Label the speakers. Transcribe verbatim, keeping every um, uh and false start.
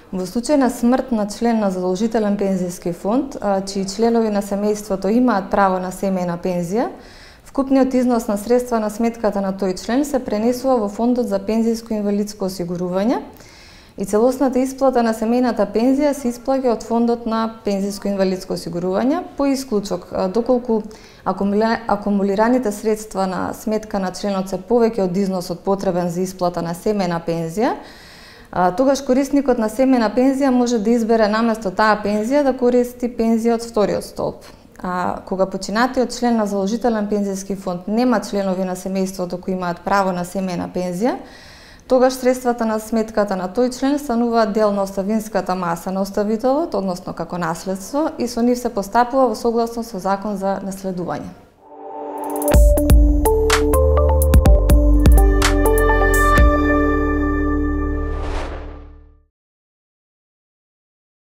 Speaker 1: Во случај на смрт на член на задолжителен пензиски фонд, чии членови на семејството имаат право на семејна пензија, вкупниот износ на средства на сметката на тој член се пренесува во фондот за пензиско инвалидско осигурување и целосната исплата на семејната пензија се исплаќа од фондот на пензиско инвалидско осигурување по исклучок доколку акумулираните средства на сметка на членот се повеќе од износот потребен за исплата на семејна пензија, тогаш корисникот на семејна пензија може да избере наместо таа пензија да користи пензија од вториот столб. А кога починатиот член на задолжителен пензиски фонд нема членови на семејството кои имаат право на семејна пензија, тогаш средствата на сметката на тој член стануваат дел на оставинската маса на оставителот, односно како наследство, и со нив се постапува во согласност со закон за наследување.